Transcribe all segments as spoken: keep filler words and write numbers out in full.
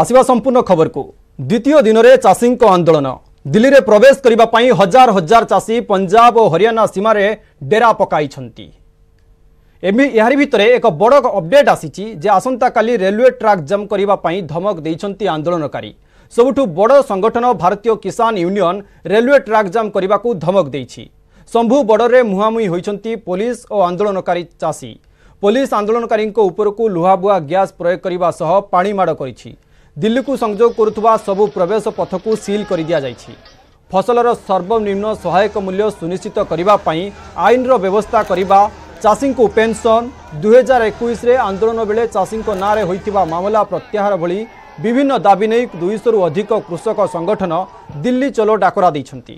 ଆସିବା ସମ୍ପୂର୍ଣ୍ଣ ଖବରକୁ। ଦ୍ୱିତୀୟ ଦିନରେ ଚାଷୀଙ୍କ ଆନ୍ଦୋଳନ। ଦିଲ୍ଲୀରେ ପ୍ରବେଶ କରିବା ପାଇଁ ହଜାର ହଜାର ଚାଷୀ ପଞ୍ଜାବ ଓ ହରିୟାଣା ସୀମାରେ ଡେରା ପକାଇଛନ୍ତି। ଏହାରି ଭିତରେ ଏକ ବଡ଼ ଅପଡେଟ୍ ଆସିଛି ଯେ ଆସନ୍ତାକାଲି ରେଲୱେ ଟ୍ରାକ୍ ଜାମ୍ କରିବା ପାଇଁ ଧମକ ଦେଇଛନ୍ତି ଆନ୍ଦୋଳନକାରୀ। ସବୁଠୁ ବଡ଼ ସଂଗଠନ ଭାରତୀୟ କିଷାନ ୟୁନିୟନ ରେଲୱେ ଟ୍ରାକ୍ ଜାମ୍ କରିବାକୁ ଧମକ ଦେଇଛି। ଶମ୍ଭୁ ବର୍ଡରରେ ମୁହାଁମୁହିଁ ହୋଇଛନ୍ତି ପୋଲିସ ଓ ଆନ୍ଦୋଳନକାରୀ ଚାଷୀ। ପୋଲିସ ଆନ୍ଦୋଳନକାରୀଙ୍କ ଉପରକୁ ଲୁହାବୁହା ଗ୍ୟାସ୍ ପ୍ରୟୋଗ କରିବା ସହ ପାଣି ମାଡ଼ କରିଛି। ଦିଲ୍ଲୀକୁ ସଂଯୋଗ କରୁଥିବା ସବୁ ପ୍ରବେଶ ପଥକୁ ସିଲ୍ କରିଦିଆଯାଇଛି। ଫସଲର ସର୍ବନିମ୍ନ ସହାୟକ ମୂଲ୍ୟ ସୁନିଶ୍ଚିତ କରିବା ପାଇଁ ଆଇନର ବ୍ୟବସ୍ଥା କରିବା, ଚାଷୀଙ୍କୁ ପେନ୍ସନ୍, ଦୁଇହଜାର ଏକୋଇଶରେ ଆନ୍ଦୋଳନ ବେଳେ ଚାଷୀଙ୍କ ନାଁରେ ହୋଇଥିବା ମାମଲା ପ୍ରତ୍ୟାହାର ଭଳି ବିଭିନ୍ନ ଦାବି ନେଇ ଦୁଇଶହରୁ ଅଧିକ କୃଷକ ସଂଗଠନ ଦିଲ୍ଲୀ ଚଲୋ ଡାକରା ଦେଇଛନ୍ତି।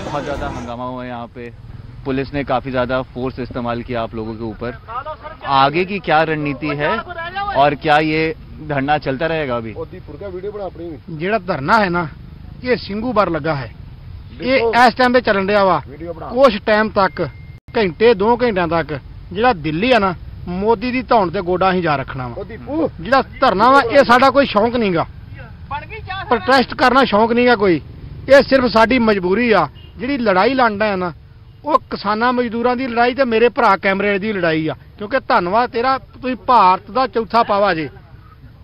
बहुत ज़्यादा हंगामा हुआ है यहाँ पे, पुलिस ने काफ़ी ज़्यादा फोर्स इस्तेमाल किया आप लोगों के ऊपर। आगे की क्या रणनीति है और क्या ये धरना चलता रहेगा अभी? ਜਿਹੜਾ ਧਰਨਾ ਹੈ ਨਾ, ਇਹ ਸਿੰਘੂ ਬਾਰ ਲੱਗਾ ਹੈ। ਇਹ ਇਸ ਟਾਈਮ ਤੇ ਚੱਲਣ ਰਿਹਾ ਵਾ। ਕੁਝ ਟਾਈਮ ਤੱਕ, ਘੰਟੇ ਦੋ ਘੰਟਿਆਂ ਤੱਕ, ਜਿਹੜਾ ਦਿੱਲੀ ਆ ਨਾ, ਮੋਦੀ ਦੀ ਧੌਣ ਤੇ ਗੋਡਾ ਹੀ ਜਾ ਰੱਖਣਾ ਵਾ। ਜਿਹੜਾ ਧਰਨਾ ਵਾ, ਇਹ ਸਾਡਾ ਕੋਈ ਸ਼ੌਂਕ ਨਹੀਂਗਾ। ਪ੍ਰੋਟੈਸਟ ਕਰਨਾ ਸ਼ੌਂਕ ਨਹੀਂਗਾ ਕੋਈ, ਇਹ ਸਿਰਫ ਸਾਡੀ ਮਜਬੂਰੀ ਆ। ਜਿਹੜੀ ਲੜਾਈ ਲੜਨਾ ਹੈ ਨਾ, ਉਹ ਕਿਸਾਨਾਂ ਮਜ਼ਦੂਰਾਂ ਦੀ ਲੜਾਈ ਤੇ ਮੇਰੇ ਭਰਾ ਕੈਮਰੇ ਦੀ ਲੜਾਈ ਆ, ਕਿਉਂਕਿ ਧੰਨਵਾਦ ਤੇਰਾ, ਤੁਸੀਂ ਭਾਰਤ ਦਾ ਚੌਥਾ ਪਾਵਾ ਜੇ।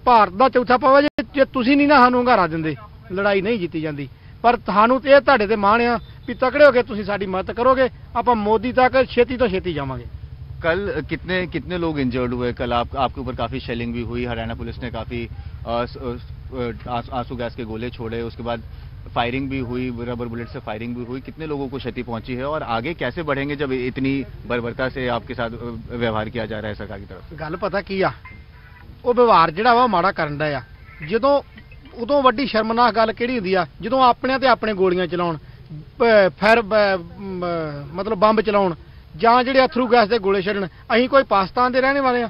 ਭਾਰਤ ਦਾ ਚੌਥਾ ਪਾਵਾ ਜੇ, ਜੇ ਤੁਸੀਂ ਨਹੀਂ ਨਾ ਸਾਨੂੰ ਹੰਗਾਰਾ ਦਿੰਦੇ, ਲੜਾਈ ਨਹੀਂ ਜਿੱਤੀ ਜਾਂਦੀ। ਪਰ ਤੁਹਾਨੂੰ ਤੇ ਇਹ ਤੁਹਾਡੇ ਤੇ ਮਾਣ ਆ ਵੀ ਤਕੜੇ ਹੋ ਕੇ ਤੁਸੀਂ ਸਾਡੀ ਮਦਦ ਕਰੋਗੇ, ਆਪਾਂ ਮੋਦੀ ਤੱਕ ਛੇਤੀ ਤੋਂ ਛੇਤੀ ਜਾਵਾਂਗੇ। कल कितने कितने लोग इंजर्ड हुए? कल आप आपके ऊपर काफी शेलिंग भी हुई, हरियाणा पुलिस ने काफी आंसू गैस के गोले छोड़े, उसके बाद फायरिंग भी हुई, रबर बुलेट से फायरिंग भी हुई। कितने लोगों को क्षति पहुंची है और आगे कैसे बढ़ेंगे जब इतनी बर्बरता से आपके साथ व्यवहार किया जा रहा है सरकार की तरफ? ਗੱਲ ਪਤਾ ਕੀ ਆ, ਉਹ ਵਿਵਹਾਰ ਜਿਹੜਾ ਵਾ ਮਾੜਾ ਕਰਨ ਦਾ ਆ। ਜਦੋਂ ਉਦੋਂ ਵੱਡੀ ਸ਼ਰਮਨਾਕ ਗੱਲ ਕਿਹੜੀ ਹੁੰਦੀ ਆ? ਜਦੋਂ ਆਪਣਿਆਂ ਤੇ ਆਪਣੇ ਗੋਲੀਆਂ ਚਲਾਉਣ, ਫਾਇਰ ਮਤਲਬ ਬੰਬ ਚਲਾਉਣ ਜਾਂ ਜਿਹੜੇ ਅਥਰੂ ਗੈਸ ਦੇ ਗੋਲੇ ਛੱਡਣ। ਅਸੀਂ ਕੋਈ ਪਾਕਿਸਤਾਨ ਦੇ ਰਹਿਣ ਵਾਲੇ ਆ?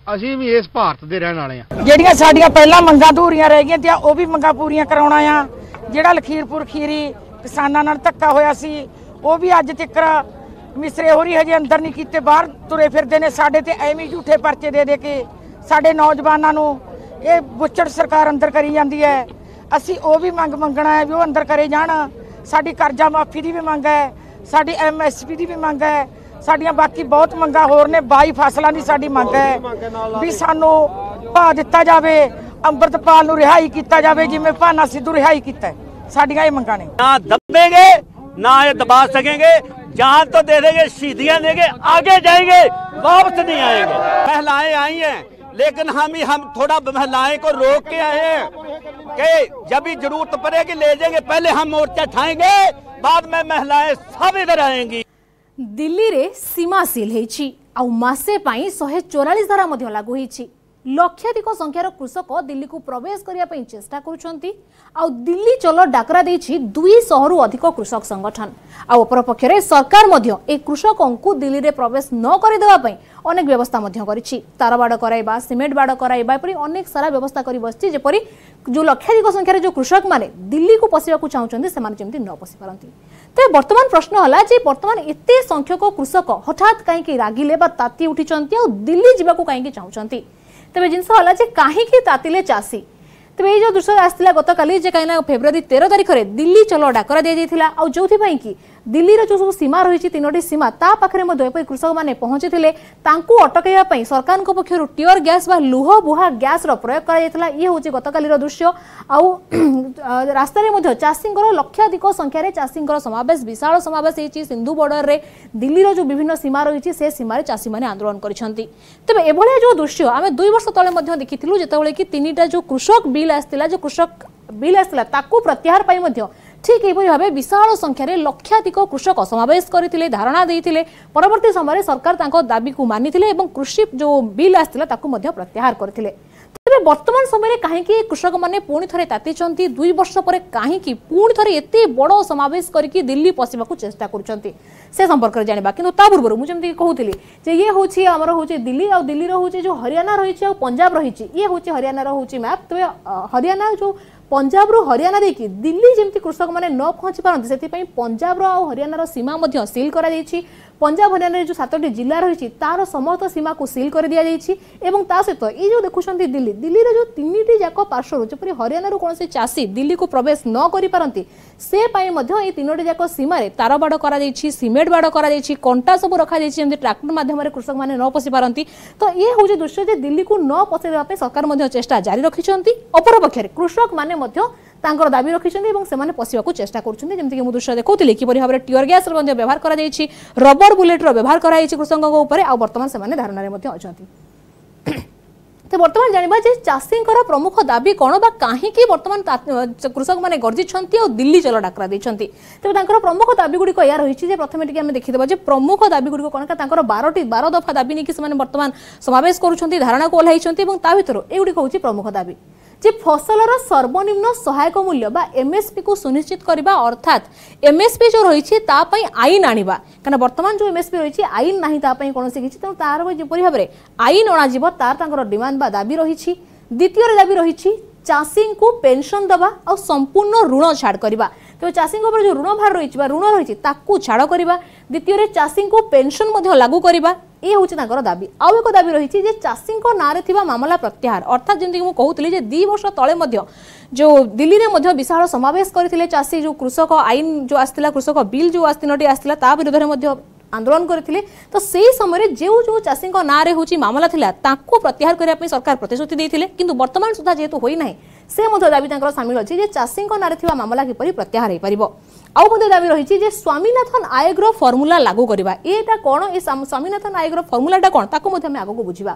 ਅਸੀਂ ਵੀ ਇਸ ਭਾਰਤ ਦੇ ਰਹਿਣ ਵਾਲੇ ਆ। ਜਿਹੜੀਆਂ ਸਾਡੀਆਂ ਪਹਿਲਾਂ ਮੰਗਾਂ ਅਧੂਰੀਆਂ ਰਹਿ ਗਈਆਂ ਤੇ ਉਹ ਵੀ ਮੰਗਾਂ ਪੂਰੀਆਂ ਕਰਾਉਣਾ ਆ। ਜਿਹੜਾ ਲਖੀਰਪੁਰ ਖੀਰੀ ਕਿਸਾਨਾਂ ਨਾਲ ਧੱਕਾ ਹੋਇਆ ਸੀ, ਉਹ ਵੀ ਅੱਜ ਤੱਕ ਮਿਸਰੇ ਹੋਰੀ ਹਜੇ ਅੰਦਰ ਨਹੀਂ ਕੀਤੇ, ਬਾਹਰ ਤੁਰੇ ਫਿਰਦੇ ਨੇ। ਸਾਡੇ ਤੇ ਐਵੇਂ ਝੂਠੇ ਪਰਚੇ ਦੇ ਦੇ ਕੇ ਸਾਡੇ ਨੌਜਵਾਨਾਂ ਨੂੰ ਇਹ ਬੁੱਚੜ ਸਰਕਾਰ ਅੰਦਰ ਕਰੀ ਜਾਂਦੀ ਹੈ। ਅਸੀਂ ਉਹ ਵੀ ਮੰਗ ਮੰਗਣਾ ਹੈ ਵੀ ਉਹ ਅੰਦਰ ਕਰੇ ਜਾਣ। ਸਾਡੀ ਕਰਜ਼ਾ ਮਾਫੀ ਦੀ ਵੀ ਮੰਗ ਹੈ, ਸਾਡੀ ਐਮਐਸਪੀ ਦੀ ਵੀ ਮੰਗ ਹੈ, ਸਾਡੀਆਂ ਬਾਕੀ ਬਹੁਤ ਮੰਗਾਂ ਹੋਰ ਨੇ। ਬਾਈ ਫਸਲਾਂ ਦੀ ਸਾਡੀ ਮੰਗ ਹੈ ਵੀ ਸਾਨੂੰ ਭਾਅ ਦਿੱਤਾ ਜਾਵੇ, ਅੰਮ੍ਰਿਤਪਾਲ ਨੂੰ ਰਿਹਾਈ ਕੀਤਾ ਜਾਵੇ ਜਿਵੇਂ ਭਾਨਾ ਸਿੱਧੂ ਰਿਹਾਈ ਕੀਤਾ। ਸਾਡੀਆਂ ਇਹ ਮੰਗਾਂ ਨੇ। ना दबेंगे, ना ये दबा सकेंगे। जान तो दे देंगे, शहीदियां देंगे, आगे जाएंगे, वापस नहीं आएंगे। महिलाएं आई हैं, लेकिन हम ही हम थोड़ा महिलाएं को रोक के आए हैं कि जब भी जरूरत पड़ेगी ले जाएंगे। पहले हम मोर्चा उठाएंगे, बाद में महिलाएं सब इधर आएंगी। ଦିଲ୍ଲୀରେ ସୀମା ସିଲ୍ ହେଇଛି ଆଉ ମାସେ ପାଇଁ ଶହେ ଚଉରାଳିଶ ଧାରା ମଧ୍ୟ ଲାଗୁ ହେଇଛି। ଲକ୍ଷାଧିକ ସଂଖ୍ୟାର କୃଷକ ଦିଲ୍ଲୀକୁ ପ୍ରବେଶ କରିବା ପାଇଁ ଚେଷ୍ଟା କରୁଛନ୍ତି ଆଉ ଦିଲ୍ଲୀ ଚଲୋ ଡାକରା ଦେଇଛି ଦୁଇଶହରୁ ଅଧିକ କୃଷକ ସଂଗଠନ। ଆଉ ଅପରପକ୍ଷରେ ସରକାର ମଧ୍ୟ ଏହି କୃଷକଙ୍କୁ ଦିଲ୍ଲୀରେ ପ୍ରବେଶ ନ କରିଦେବା ପାଇଁ ଅନେକ ବ୍ୟବସ୍ଥା ମଧ୍ୟ କରିଛି। ତାରବାଡ଼ କରାଇବା, ସିମେଣ୍ଟ ବାଡ଼ କରାଇବା, ଏପରି ଅନେକ ସାରା ବ୍ୟବସ୍ଥା କରି ବସିଛି, ଯେପରି ଯେଉଁ ଲକ୍ଷାଧିକ ସଂଖ୍ୟାରେ ଯେଉଁ କୃଷକମାନେ ଦିଲ୍ଲୀକୁ ପଶିବାକୁ ଚାହୁଁଛନ୍ତି ସେମାନେ ଯେମିତି ନ ପଶି ପାରନ୍ତି। ତେବେ ବର୍ତ୍ତମାନ ପ୍ରଶ୍ନ ହେଲା ଯେ ବର୍ତ୍ତମାନ ଏତେ ସଂଖ୍ୟକ କୃଷକ ହଠାତ୍ କାହିଁକି ରାଗିଲେ ବା ତାତି ଉଠିଛନ୍ତି ଆଉ ଦିଲ୍ଲୀ ଯିବାକୁ କାହିଁକି ଚାହୁଁଛନ୍ତି? ତେବେ ଜିନିଷ ହେଲା ଯେ କାହିଁକି ତାତିଲେ ଚାଷୀ? ତେବେ ଏଇ ଯେଉଁ ଦୃଶ୍ୟ ଆସିଥିଲା ଗତକାଲି ଯେ କାହିଁକିନା ଫେବୃଆରୀ ତେର ତାରିଖରେ ଦିଲ୍ଲୀ ଚଲୋ ଡାକରା ଦିଆଯାଇଥିଲା ଆଉ ଯେଉଁଥିପାଇଁ କି ଦିଲ୍ଲୀର ଯେଉଁ ସବୁ ସୀମା ରହିଛି, ତିନୋଟି ସୀମା, ତା ପାଖରେ ମଧ୍ୟ ଏପରି କୃଷକମାନେ ପହଞ୍ଚିଥିଲେ। ତାଙ୍କୁ ଅଟକାଇବା ପାଇଁ ସରକାରଙ୍କ ପକ୍ଷରୁ ଟିୟର ଗ୍ୟାସ୍ ବା ଲୁହ ବୁହା ଗ୍ୟାସ୍ର ପ୍ରୟୋଗ କରାଯାଇଥିଲା। ଇଏ ହେଉଛି ଗତକାଲିର ଦୃଶ୍ୟ। ଆଉ ରାସ୍ତାରେ ମଧ୍ୟ ଚାଷୀଙ୍କର ଲକ୍ଷାଧିକ ସଂଖ୍ୟାରେ ଚାଷୀଙ୍କର ସମାବେଶ, ବିଶାଳ ସମାବେଶ ହେଇଛି ସିନ୍ଧୁ ବର୍ଡରରେ। ଦିଲ୍ଲୀର ଯେଉଁ ବିଭିନ୍ନ ସୀମା ରହିଛି ସେ ସୀମାରେ ଚାଷୀମାନେ ଆନ୍ଦୋଳନ କରିଛନ୍ତି। ତେବେ ଏଭଳିଆ ଯେଉଁ ଦୃଶ୍ୟ ଆମେ ଦୁଇ ବର୍ଷ ତଳେ ମଧ୍ୟ ଦେଖିଥିଲୁ, ଯେତେବେଳେ କି ତିନିଟା ଯେଉଁ କୃଷକ ବିଲ୍ ଆସିଥିଲା, ଯେଉଁ କୃଷକ ବିଲ୍ ଆସିଥିଲା ତାକୁ ପ୍ରତ୍ୟାହାର ପାଇଁ ମଧ୍ୟ ଠିକ୍ ଏହିପରି ଭାବେ ବିଶାଳ ସଂଖ୍ୟାରେ ଲକ୍ଷାଧିକ କୃଷକ ସମାବେଶ କରିଥିଲେ, ଧାରଣା ଦେଇଥିଲେ। ପରବର୍ତ୍ତୀ ସମୟରେ ସରକାର ତାଙ୍କ ଦାବିକୁ ମାନିଥିଲେ ଏବଂ କୃଷି ଯେଉଁ ବିଲ୍ ଆସିଥିଲା ତାକୁ ମଧ୍ୟ ପ୍ରତ୍ୟାହାର କରିଥିଲେ। ତେବେ ବର୍ତ୍ତମାନ ସମୟରେ କାହିଁକି କୃଷକମାନେ ପୁଣି ଥରେ ତାତିଛନ୍ତି? ଦୁଇ ବର୍ଷ ପରେ କାହିଁକି ପୁଣି ଥରେ ଏତେ ବଡ଼ ସମାବେଶ କରିକି ଦିଲ୍ଲୀ ପଶିବାକୁ ଚେଷ୍ଟା କରୁଛନ୍ତି? ସେ ସମ୍ପର୍କରେ ଜାଣିବା। କିନ୍ତୁ ତା ପୂର୍ବରୁ ମୁଁ ଯେମିତି କହୁଥିଲି ଯେ ଇଏ ହେଉଛି ଆମର ହେଉଛି ଦିଲ୍ଲୀ, ଆଉ ଦିଲ୍ଲୀର ହେଉଛି ଯେଉଁ ହରିୟାଣା ରହିଛି ଆଉ ପଞ୍ଜାବ ରହିଛି, ଇଏ ହେଉଛି ହରିୟାଣାର ହେଉଛି ମ୍ୟାପ୍। ତେବେ ହରିୟାଣା ଯେଉଁ ପଞ୍ଜାବରୁ ହରିୟାଣା ଦେଇକି ଦିଲ୍ଲୀ ଯେମିତି କୃଷକମାନେ ନ ପହଞ୍ଚି ପାରନ୍ତି, ସେଥିପାଇଁ ପଞ୍ଜାବର ଆଉ ହରିୟାଣାର ସୀମା ମଧ୍ୟ ସିଲ୍ କରାଯାଇଛି। ପଞ୍ଜାବ ହରିୟାଣାରେ ଯେଉଁ ସାତଟି ଜିଲ୍ଲା ରହିଛି ତାର ସମସ୍ତ ସୀମାକୁ ସିଲ୍ କରିଦିଆଯାଇଛି। ଏବଂ ତା ସହିତ ଏଇ ଯେଉଁ ଦେଖୁଛନ୍ତି ଦିଲ୍ଲୀ, ଦିଲ୍ଲୀର ଯେଉଁ ତିନିଟି ଯାକ ପାର୍ଶ୍ୱରୁ ଯେପରି ହରିୟାଣାରୁ କୌଣସି ଚାଷୀ ଦିଲ୍ଲୀକୁ ପ୍ରବେଶ ନ କରିପାରନ୍ତି, ସେ ପାଇଁ ମଧ୍ୟ ଏଇ ତିନୋଟି ଯାକ ସୀମାରେ ତାର ବାଡ଼ କରାଯାଇଛି, ସିମେଣ୍ଟ ବାଡ଼ କରାଯାଇଛି, କଣ୍ଟା ସବୁ ରଖାଯାଇଛି, ଯେମିତି ଟ୍ରାକ୍ଟର ମାଧ୍ୟମରେ କୃଷକମାନେ ନ ପଶି ପାରନ୍ତି। ତ ଇଏ ହେଉଛି ଦୃଶ୍ୟ ଯେ ଦିଲ୍ଲୀକୁ ନ ପଶାଇ ଦେବା ପାଇଁ ସରକାର ମଧ୍ୟ ଚେଷ୍ଟା ଜାରି ରଖିଛନ୍ତି। ଅପରପକ୍ଷରେ କୃଷକମାନେ ମଧ୍ୟ ତାଙ୍କର ଦାବି ରଖିଛନ୍ତି ଏବଂ ସେମାନେ ପଶିବାକୁ ଚେଷ୍ଟା କରୁଛନ୍ତି। ଯେମିତିକି ମୁଁ ଦୃଶ୍ୟ ଦେଖାଉଥିଲି କିପରି ଭାବରେ ଟିୟର ଗ୍ୟାସ୍ର ମଧ୍ୟ ବ୍ୟବହାର କରାଯାଇଛି, ରବର ବୁଲେଟ୍ର ବ୍ୟବହାର କରାଯାଇଛି କୃଷକଙ୍କ ଉପରେ, ଆଉ ବର୍ତ୍ତମାନ ସେମାନେ ଧାରଣାରେ ମଧ୍ୟ ଅଛନ୍ତି। ତ ବର୍ତ୍ତମାନ ଜାଣିବା ଯେ ଚାଷୀଙ୍କର ପ୍ରମୁଖ ଦାବି କ'ଣ ବା କାହିଁକି ବର୍ତ୍ତମାନ କୃଷକମାନେ ଗର୍ଜିଛନ୍ତି ଆଉ ଦିଲ୍ଲୀ ଚଲ ଡାକରା ଦେଇଛନ୍ତି। ତେବେ ତାଙ୍କର ପ୍ରମୁଖ ଦାବି ଗୁଡ଼ିକ ଏହା ରହିଛି ଯେ ପ୍ରଥମେ ଟିକେ ଆମେ ଦେଖିଦେବା ଯେ ପ୍ରମୁଖ ଦାବି ଗୁଡ଼ିକ କ'ଣ। ତାଙ୍କର ବାରଟି ବାର ଦଫା ଦାବି ନେଇକି ସେମାନେ ବର୍ତ୍ତମାନ ସମାବେଶ କରୁଛନ୍ତି, ଧାରଣାକୁ ଓହ୍ଲାଇଛନ୍ତି ଏବଂ ତା ଭିତରୁ ଏଗୁଡ଼ିକ ହେଉଛି ପ୍ରମୁଖ ଦାବି ଯେ ଫସଲର ସର୍ବନିମ୍ନ ସହାୟକ ମୂଲ୍ୟ ବା ଏମ୍ଏସ୍ପି କୁ ସୁନିଶ୍ଚିତ କରିବା, ଅର୍ଥାତ୍ ଏମ୍ଏସ୍ପି ଯେଉଁ ରହିଛି ତା ପାଇଁ ଆଇନ ଆଣିବା, କାରଣ ବର୍ତ୍ତମାନ ଯେଉଁ ଏମ୍ଏସ୍ପି ରହିଛି ଆଇନ ନାହିଁ ତା ପାଇଁ କୌଣସି କିଛି, ତେଣୁ ତାର ଯେପରି ଭାବରେ ଆଇନ ଅଣାଯିବ ତାର ତାଙ୍କର ଡିମାଣ୍ଡ ବା ଦାବି ରହିଛି। ଦ୍ୱିତୀୟରେ ଦାବି ରହିଛି ଚାଷୀଙ୍କୁ ପେନସନ୍ ଦେବା ଆଉ ସମ୍ପୂର୍ଣ୍ଣ ଋଣ ଛାଡ଼ କରିବା। ତେବେ ଚାଷୀଙ୍କ ଉପରେ ଯେଉଁ ଋଣ ଭାର ରହିଛି ବା ଋଣ ରହିଛି ତାକୁ ଛାଡ଼ କରିବା। ଦ୍ୱିତୀୟରେ ଚାଷୀଙ୍କୁ ପେନସନ୍ ମଧ୍ୟ ଲାଗୁ କରିବା, ଏ ହେଉଛି ତାଙ୍କର ଦାବି। ଆଉ ଏକ ଦାବି ରହିଛି ଯେ ଚାଷୀଙ୍କ ନାଁରେ ଥିବା ମାମଲା ପ୍ରତ୍ୟାହାର, ଅର୍ଥାତ୍ ଯେମିତିକି ମୁଁ କହୁଥିଲି ଯେ ଦୁଇ ବର୍ଷ ତଳେ ମଧ୍ୟ ଯେଉଁ ଦିଲ୍ଲୀରେ ମଧ୍ୟ ବିଶାଳ ସମାବେଶ କରିଥିଲେ ଚାଷୀ, ଯେଉଁ କୃଷକ ଆଇନ ଯେଉଁ ଆସିଥିଲା, କୃଷକ ବିଲ୍ ଯେଉଁ ତିନୋଟି ଆସିଥିଲା ତା ବିରୋଧରେ ମଧ୍ୟ ଆନ୍ଦୋଳନ କରିଥିଲେ। ତ ସେହି ସମୟରେ ଯେଉଁ ଯେଉଁ ଚାଷୀଙ୍କ ନାଁରେ ହେଉଛି ମାମଲା ଥିଲା ତାକୁ ପ୍ରତ୍ୟାହାର କରିବା ପାଇଁ ସରକାର ପ୍ରତିଶ୍ରୁତି ଦେଇଥିଲେ, କିନ୍ତୁ ବର୍ତ୍ତମାନ ସୁଦ୍ଧା ଯେହେତୁ ହୋଇନାହିଁ ସେ ମଧ୍ୟ ଦାବି ତାଙ୍କର ସାମିଲ ଅଛି ଯେ ଚାଷୀଙ୍କ ନାଁରେ ଥିବା ମାମଲା କିପରି ପ୍ରତ୍ୟାହାର ହୋଇପାରିବ। ଆଉ ମଧ୍ୟ ଦାବି ରହିଛି ଯେ ସ୍ୱାମୀନାଥନ ଆୟୋଗର ଫର୍ମୁଲା ଲାଗୁ କରିବା। ଏଇଟା କ'ଣ, ଏ ସ୍ୱାମୀନାଥନ ଆୟୋଗର ଫର୍ମୁଲାଟା କ'ଣ ତାକୁ ମଧ୍ୟ ଆମେ ଆଗକୁ ବୁଝିବା।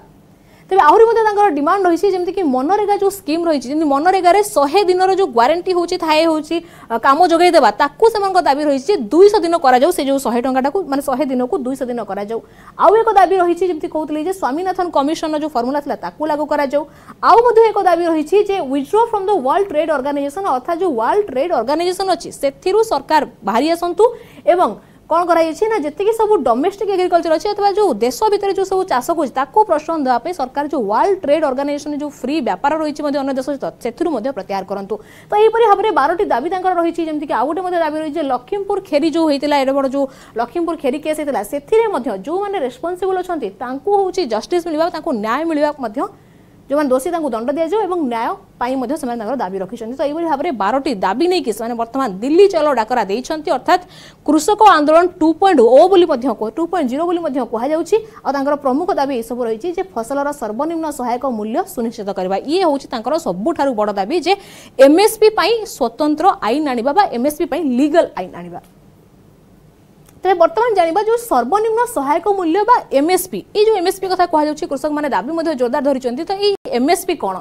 ତେବେ ଆହୁରି ମଧ୍ୟ ତାଙ୍କର ଡିମାଣ୍ଡ ରହିଛି ଯେମିତିକି ମନରେଗା ଯେଉଁ ସ୍କିମ୍ ରହିଛି, ଯେମିତି ମନରେଗାରେ ଶହେ ଦିନର ଯେଉଁ ଗ୍ୟାରେଣ୍ଟି ହେଉଛି ଥାଏ ହେଉଛି କାମ ଯୋଗାଇ ଦେବା, ତାକୁ ସେମାନଙ୍କ ଦାବି ରହିଛି ଯେ ଦୁଇଶହ ଦିନ କରାଯାଉ, ସେ ଯେଉଁ ଶହେ ଟଙ୍କାଟାକୁ ମାନେ ଶହେ ଦିନକୁ ଦୁଇଶହ ଦିନ କରାଯାଉ। ଆଉ ଏକ ଦାବି ରହିଛି ଯେମିତି କହୁଥିଲି ଯେ ସ୍ୱାମୀନାଥନ କମିଶନର ଯେଉଁ ଫର୍ମୁଲା ଥିଲା ତାକୁ ଲାଗୁ କରାଯାଉ। ଆଉ ମଧ୍ୟ ଏକ ଦାବି ରହିଛି ଯେ withdraw from the World Trade Organization, ଅର୍ଥାତ୍ ଯେଉଁ ୱାର୍ଲଡ ଟ୍ରେଡ୍ ଅର୍ଗାନାଇଜେସନ୍ ଅଛି ସେଥିରୁ ସରକାର ବାହାରି ଆସନ୍ତୁ ଏବଂ କ'ଣ କରାଯାଇଛି ନା ଯେତିକି ସବୁ ଡୋମେଷ୍ଟିକ୍ ଏଗ୍ରିକଲଚର ଅଛି ଅଥବା ଯେଉଁ ଦେଶ ଭିତରେ ଯେଉଁ ସବୁ ଚାଷ କରୁଛି ତାକୁ ପ୍ରୋତ୍ସାହନ ଦେବା ପାଇଁ ସରକାର ଯେଉଁ ୱାର୍ଲଡ ଟ୍ରେଡ୍ ଅର୍ଗାନାଇଜେସନ୍ ଯେଉଁ ଫ୍ରି ବ୍ୟାପାର ରହିଛି ମଧ୍ୟ ଅନ୍ୟ ଦେଶ ସହିତ ସେଥିରୁ ମଧ୍ୟ ପ୍ରତ୍ୟାହାର କରନ୍ତୁ। ତ ଏହିପରି ଭାବରେ ବାରଟି ଦାବି ତାଙ୍କର ରହିଛି। ଯେମିତିକି ଆଉ ଗୋଟେ ମଧ୍ୟ ଦାବି ରହିଛି ଯେ ଲକ୍ଷ୍ମୀପୁର ଖେରି ଯେଉଁ ହେଇଥିଲା, ଏଡ଼େ ବଡ଼ ଯେଉଁ ଲକ୍ଷ୍ମୀପୁର ଖେରି କେସ୍ ହେଇଥିଲା ସେଥିରେ ମଧ୍ୟ ଯେଉଁମାନେ ରେସ୍ପନ୍ସିବଲ୍ ଅଛନ୍ତି ତାଙ୍କୁ ହେଉଛି ଜଷ୍ଟିସ୍ ମିଳିବା, ତାଙ୍କୁ ନ୍ୟାୟ ମିଳିବା, ମଧ୍ୟ ଯେଉଁମାନେ ଦୋଷୀ ତାଙ୍କୁ ଦଣ୍ଡ ଦିଆଯାଉ ଏବଂ ନ୍ୟାୟ ପାଇଁ ମଧ୍ୟ ସେମାନେ ତାଙ୍କର ଦାବି ରଖିଛନ୍ତି। ତ ଏଇଭଳି ଭାବରେ ବାରଟି ଦାବି ନେଇକି ସେମାନେ ବର୍ତ୍ତମାନ ଦିଲ୍ଲୀ ଚଲୋ ଡାକରା ଦେଇଛନ୍ତି, ଅର୍ଥାତ୍ କୃଷକ ଆନ୍ଦୋଳନ ଟୁ ପଏଣ୍ଟ ଓ ବୋଲି ମଧ୍ୟ ଟୁ ପଏଣ୍ଟ ଜିରୋ ବୋଲି ମଧ୍ୟ କୁହାଯାଉଛି। ଆଉ ତାଙ୍କର ପ୍ରମୁଖ ଦାବି ଏସବୁ ରହିଛି ଯେ ଫସଲର ସର୍ବନିମ୍ନ ସହାୟକ ମୂଲ୍ୟ ସୁନିଶ୍ଚିତ କରିବା, ଇଏ ହେଉଛି ତାଙ୍କର ସବୁଠାରୁ ବଡ଼ ଦାବି ଯେ ଏମ୍ଏସ୍ପି ପାଇଁ ସ୍ୱତନ୍ତ୍ର ଆଇନ ଆଣିବା ବା ଏମ୍ଏସ୍ପି ପାଇଁ ଲିଗାଲ ଆଇନ ଆଣିବା। ତେବେ ବର୍ତ୍ତମାନ ଜାଣିବା ଯେଉଁ ସର୍ବନିମ୍ନ ସହାୟକ ମୂଲ୍ୟ ବା ଏମ୍ଏସ୍ପି, ଏଇ ଯେଉଁ ଏମ୍ଏସ୍ପି କଥା କୁହାଯାଉଛି କୃଷକମାନେ ଦାବି ମଧ୍ୟ ଜୋରଦାର ଧରିଛନ୍ତି। ତ ଏଇ ଏମ୍ଏସ୍ପି କ'ଣ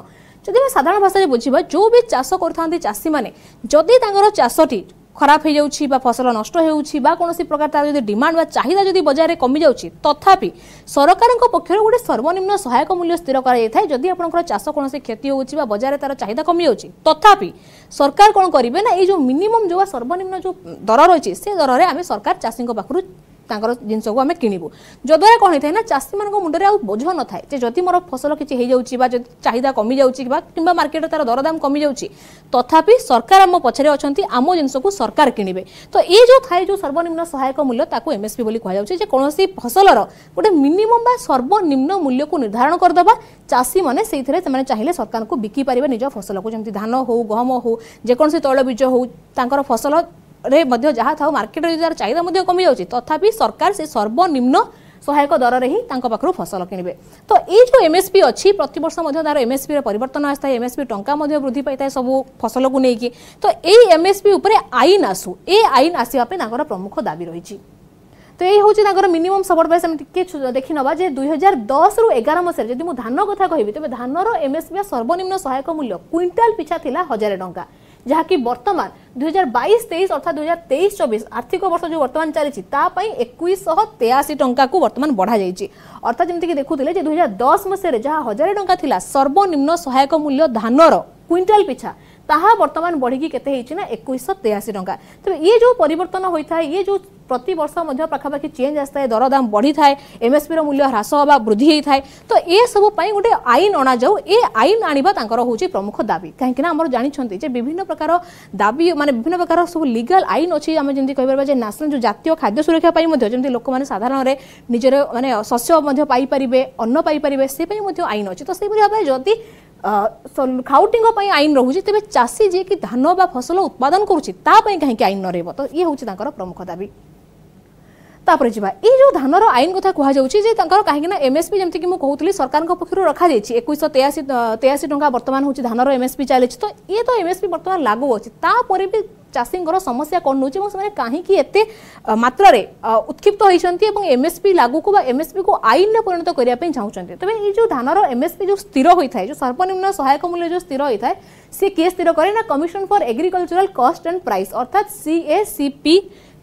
ଯଦି ଆମେ ସାଧାରଣ ଭାଷାରେ ବୁଝିବା, ଯେଉଁ ବି ଚାଷ କରୁଥାନ୍ତି ଚାଷୀମାନେ, ଯଦି ତାଙ୍କର ଚାଷଟି ଖରାପ ହେଇଯାଉଛି ବା ଫସଲ ନଷ୍ଟ ହେଉଛି ବା କୌଣସି ପ୍ରକାର ତାର ଯଦି ଡିମାଣ୍ଡ ବା ଚାହିଦା ଯଦି ବଜାରରେ କମିଯାଉଛି, ତଥାପି ସରକାରଙ୍କ ପକ୍ଷରୁ ଗୋଟେ ସର୍ବନିମ୍ନ ସହାୟକ ମୂଲ୍ୟ ସ୍ଥିର କରାଯାଇଥାଏ। ଯଦି ଆପଣଙ୍କର ଚାଷ କୌଣସି କ୍ଷତି ହେଉଛି ବା ବଜାରରେ ତାର ଚାହିଦା କମିଯାଉଛି, ତଥାପି ସରକାର କ'ଣ କରିବେ ନା ଏଇ ଯେଉଁ ମିନିମମ୍ ଯେଉଁ ବା ସର୍ବନିମ୍ନ ଯେଉଁ ଦର ରହିଛି ସେ ଦରରେ ଆମେ ସରକାର ଚାଷୀଙ୍କ ପାଖରୁ ତାଙ୍କର ଜିନିଷକୁ ଆମେ କିଣିବୁ। ଯଦ୍ୱାରା କ'ଣ ହେଇଥାଏ ନା ଚାଷୀମାନଙ୍କ ମୁଣ୍ଡରେ ଆଉ ବୋଝ ନଥାଏ ଯେ ଯଦି ମୋର ଫସଲ କିଛି ହେଇଯାଉଛି ବା ଯଦି ଚାହିଦା କମିଯାଉଛି ବା କିମ୍ବା ମାର୍କେଟରେ ତାର ଦରଦାମ କମିଯାଉଛି, ତଥାପି ସରକାର ଆମ ପଛରେ ଅଛନ୍ତି, ଆମ ଜିନିଷକୁ ସରକାର କିଣିବେ। ତ ଏଇ ଯେଉଁ ଥାଏ ଯେଉଁ ସର୍ବନିମ୍ନ ସହାୟକ ମୂଲ୍ୟ ତାକୁ ଏମ୍ଏସ୍ପି ବୋଲି କୁହାଯାଉଛି, ଯେ କୌଣସି ଫସଲର ଗୋଟେ ମିନିମମ୍ ବା ସର୍ବନିମ୍ନ ମୂଲ୍ୟକୁ ନିର୍ଦ୍ଧାରଣ କରିଦେବା, ଚାଷୀମାନେ ସେଇଥିରେ ସେମାନେ ଚାହିଁଲେ ସରକାରଙ୍କୁ ବିକି ପାରିବେ ନିଜ ଫସଲକୁ, ଯେମିତି ଧାନ ହଉ, ଗହମ ହଉ, ଯେକୌଣସି ତୈଳବୀଜ ହଉ, ତାଙ୍କର ଫସଲ ରେ ମଧ୍ୟ ଯାହା ଥାଉ ମାର୍କେଟରେ ଯଦି ତାର ଚାହିଦା ମଧ୍ୟ କମିଯାଉଛି, ତଥାପି ସରକାର ସେ ସର୍ବନିମ୍ନ ସହାୟକ ଦରରେ ହିଁ ତାଙ୍କ ପାଖରୁ ଫସଲ କିଣିବେ। ତ ଏଇ ଯେଉଁ ଏମ୍ଏସ୍ପି ଅଛି ପ୍ରତିବର୍ଷ ମଧ୍ୟ ତାର ଏମ୍ଏସ୍ପିର ପରିବର୍ତ୍ତନ ଆସିଥାଏ, ଏମ୍ଏସ୍ପି ଟଙ୍କା ମଧ୍ୟ ବୃଦ୍ଧି ପାଇଥାଏ ସବୁ ଫସଲକୁ ନେଇକି। ତ ଏଇ ଏମ୍ଏସ୍ପି ଉପରେ ଆଇନ ଆସୁ, ଏ ଆଇନ ଆସିବା ପାଇଁ ତାଙ୍କର ପ୍ରମୁଖ ଦାବି ରହିଛି। ତ ଏଇ ହେଉଛି ତାଙ୍କର ମିନିମମ୍ ସପୋର୍ଟ ପ୍ରାଇସ୍। ଆମେ ଟିକେ ଦେଖି ନେବା ଯେ ଦୁଇ ହଜାର ଦଶରୁ ଏଗାର ମସିହାରେ ଯଦି ମୁଁ ଧାନ କଥା କହିବି, ତେବେ ଧାନର ଏମ୍ଏସ୍ପି ବା ସର୍ବନିମ୍ନ ସହାୟକ ମୂଲ୍ୟ କୁଇଣ୍ଟାଲ ପିଛା ଥିଲା ହଜାରେ ଟଙ୍କା, ଯାହାକି ବର୍ତ୍ତମାନ ଦୁଇ ହଜାର ବାଇଶ ତେଇଶ ଅର୍ଥାତ୍ ଦୁଇ ହଜାର ତେଇଶ ଚବିଶ ଆର୍ଥିକ ବର୍ଷ ଯେଉଁ ବର୍ତ୍ତମାନ ଚାଲିଛି ତା ପାଇଁ ଏକୋଇଶଶହ ତେୟାଅଶୀ ଟଙ୍କାକୁ ବର୍ତ୍ତମାନ ବଢ଼ାଯାଇଛି। ଅର୍ଥାତ୍ ଯେମିତିକି ଦେଖୁଥିଲେ ଯେ ଦୁଇ ହଜାର ଦଶ ମସିହାରେ ଯାହା ହଜାରେ ଟଙ୍କା ଥିଲା ସର୍ବନିମ୍ନ ସହାୟକ ମୂଲ୍ୟ ଧାନର କୁଇଣ୍ଟାଲ ପିଛା, ତାହା ବର୍ତ୍ତମାନ ବଢ଼ିକି କେତେ ହେଇଛି ନା ଏକୋଇଶଶହ ତେୟାଅଶୀ ଟଙ୍କା। ତେବେ ଇଏ ଯେଉଁ ପରିବର୍ତ୍ତନ ହୋଇଥାଏ, ଇଏ ଯେଉଁ ପ୍ରତିବର୍ଷ ମଧ୍ୟ ପାଖାପାଖି ଚେଞ୍ଜ ଆସିଥାଏ, ଦରଦାମ ବଢ଼ିଥାଏ, ଏମ୍ଏସ୍ପିର ମୂଲ୍ୟ ହ୍ରାସ ହେବା ବୃଦ୍ଧି ହେଇଥାଏ। ତ ଏସବୁ ପାଇଁ ଗୋଟେ ଆଇନ ଅଣାଯାଉ, ଏ ଆଇନ ଆଣିବା ତାଙ୍କର ହେଉଛି ପ୍ରମୁଖ ଦାବି। କାହିଁକିନା ଆମର ଜାଣିଛନ୍ତି ଯେ ବିଭିନ୍ନ ପ୍ରକାର ଦାବି ମାନେ ବିଭିନ୍ନ ପ୍ରକାର ସବୁ ଲିଗାଲ ଆଇନ ଅଛି। ଆମେ ଯେମିତି କହିପାରିବା ଯେ ନ୍ୟାସନାଲ ଯେଉଁ ଜାତୀୟ ଖାଦ୍ୟ ସୁରକ୍ଷା ପାଇଁ ମଧ୍ୟ ଯେମିତି ଲୋକମାନେ ସାଧାରଣରେ ନିଜର ମାନେ ଶସ୍ୟ ମଧ୍ୟ ପାଇପାରିବେ, ଅନ୍ନ ପାଇପାରିବେ, ସେ ପାଇଁ ମଧ୍ୟ ଆଇନ ଅଛି। ତ ସେହିପରି ଭାବରେ ଯଦି ଖାଉଟିଙ୍କ ପାଇଁ ଆଇନ ରହୁଛି, ତେବେ ଚାଷୀ ଯିଏକି ଧାନ ବା ଫସଲ ଉତ୍ପାଦନ କରୁଛି ତା ପାଇଁ କାହିଁକି ଆଇନ ନ ରହିବ? ତ ଇଏ ହେଉଛି ତାଙ୍କର ପ୍ରମୁଖ ଦାବି। ତାପରେ ଯିବା ଏଇ ଯେଉଁ ଧାନର ଆଇନ କଥା କୁହାଯାଉଛି ଯେ ତାଙ୍କର, କାହିଁକିନା ଏମ୍ଏସ୍ପି ଯେମିତିକି ମୁଁ କହୁଥିଲି ସରକାରଙ୍କ ପକ୍ଷରୁ ରଖାଯାଇଛି ଏକୋଇଶହ ତେୟାଅଶୀ ତେୟାଅଶୀ ଟଙ୍କା ବର୍ତ୍ତମାନ ହେଉଛି ଧାନର ଏମ୍ଏସ୍ପି ଚାଲିଛି। ତ ଇଏ ତ ଏମ୍ଏସ୍ପି ବର୍ତ୍ତମାନ ଲାଗୁ ଅଛି, ତାପରେ ବି ଚାଷୀଙ୍କର ସମସ୍ୟା କ'ଣ ରହୁଛି ଏବଂ ସେମାନେ କାହିଁକି ଏତେ ମାତ୍ରାରେ ଉତ୍କ୍ଷିପ୍ତ ହୋଇଛନ୍ତି ଏବଂ ଏମ୍ଏସ୍ପି ଲାଗୁକୁ ବା ଏମ୍ଏସ୍ପିକୁ ଆଇନରେ ପରିଣତ କରିବା ପାଇଁ ଚାହୁଁଛନ୍ତି? ତେବେ ଏଇ ଯେଉଁ ଧାନର ଏମ୍ଏସ୍ପି ଯେଉଁ ସ୍ଥିର ହୋଇଥାଏ, ଯେଉଁ ସର୍ବନିମ୍ନ ସହାୟକ ମୂଲ୍ୟ ଯେଉଁ ସ୍ଥିର ହୋଇଥାଏ, ସେ କିଏ ସ୍ଥିର କରେ ନା commission for agricultural cost and price ଅର୍ଥାତ୍ ସିଏସିପି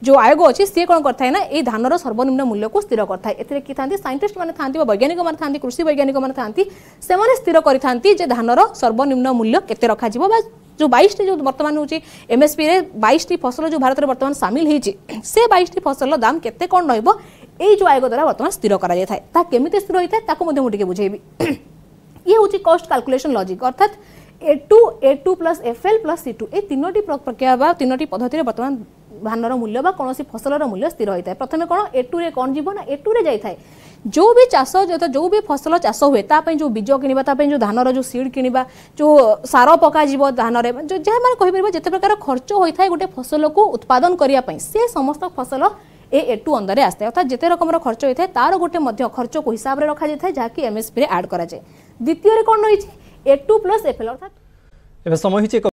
ଯେଉଁ ଆୟୋଗ ଅଛି, ସିଏ କ'ଣ କରିଥାଏ ନା ଏଇ ଧାନର ସର୍ବନିମ୍ନ ମୂଲ୍ୟକୁ ସ୍ଥିର କରିଥାଏ। ଏଥିରେ କିଏ ଥାନ୍ତି? ସାଇଣ୍ଟିଷ୍ଟ ମାନେ ଥାନ୍ତି ବା ବୈଜ୍ଞାନିକ ମାନେ ଥାନ୍ତି, କୃଷି ବୈଜ୍ଞାନିକ ମାନେ ଥାନ୍ତି। ସେମାନେ ସ୍ଥିର କରିଥାନ୍ତି ଯେ ଧାନର ସର୍ବନିମ୍ନ ମୂଲ୍ୟ କେତେ ରଖାଯିବ ବା ଯେଉଁ ବାଇଶଟି ଯେଉଁ ବର୍ତ୍ତମାନ ହେଉଛି ଏମ୍ଏସ୍ପିରେ ବାଇଶଟି ଫସଲ ଯେଉଁ ଭାରତରେ ବର୍ତ୍ତମାନ ସାମିଲ ହେଇଛି, ସେ ବାଇଶଟି ଫସଲର ଦାମ କେତେ କ'ଣ ରହିବ ଏଇ ଯେଉଁ ଆୟୋଗ ଦ୍ୱାରା ବର୍ତ୍ତମାନ ସ୍ଥିର କରାଯାଇଥାଏ। ତାହା କେମିତି ସ୍ଥିର ହୋଇଥାଏ ତାକୁ ମଧ୍ୟ ମୁଁ ଟିକେ ବୁଝେଇବି। ଇଏ ହେଉଛି କଷ୍ଟ କାଲକୁଲେସନ ଲଜିକ୍, ଅର୍ଥାତ୍ A two, A two plus F L plus C two, ଏ ତିନୋଟି ପ୍ରକ୍ରିୟା ବା ତିନୋଟି ପଦ୍ଧତିରେ ବର୍ତ୍ତମାନ ଧାନର ମୂଲ୍ୟ ବା କୌଣସି ଫସଲର ମୂଲ୍ୟ ସ୍ଥିର ହୋଇଥାଏ। ପ୍ରଥମେ କ'ଣ ଏ ଟୁରେ କ'ଣ ଯିବ ନା ଏ ଟୁରେ ଯାଇଥାଏ ଯେଉଁ ବି ଚାଷ, ଯେଉଁ ବି ଫସଲ ଚାଷ ହୁଏ ତା ପାଇଁ ଯେଉଁ ବୀଜ କିଣିବା, ତା ପାଇଁ ଯେଉଁ ଧାନର ଯେଉଁ ସିଡ୍ କିଣିବା, ଯେଉଁ ସାର ପକାଯିବ ଧାନରେ, ଯାହା ମାନେ କହିପାରିବା ଯେତେ ପ୍ରକାର ଖର୍ଚ୍ଚ ହୋଇଥାଏ ଗୋଟେ ଫସଲକୁ ଉତ୍ପାଦନ କରିବା ପାଇଁ, ସେ ସମସ୍ତ ଫସଲ ଏ ଏ ଟୁ ଅଣ୍ଡରରେ ଆସିଥାଏ। ଅର୍ଥାତ୍ ଯେତେ ରକମର ଖର୍ଚ୍ଚ ହୋଇଥାଏ ତାର ଗୋଟେ ମଧ୍ୟ ଖର୍ଚ୍ଚକୁ ହିସାବରେ ରଖାଯାଇଥାଏ, ଯାହାକି ଏମ୍ଏସ୍ପିରେ ଆଡ୍ କରାଯାଏ। ଦ୍ୱିତୀୟରେ କ'ଣ ରହିଛି? A two plus F L ଅର୍ଥାତ୍ ଏବେ ସମୟ ହେଇଛି।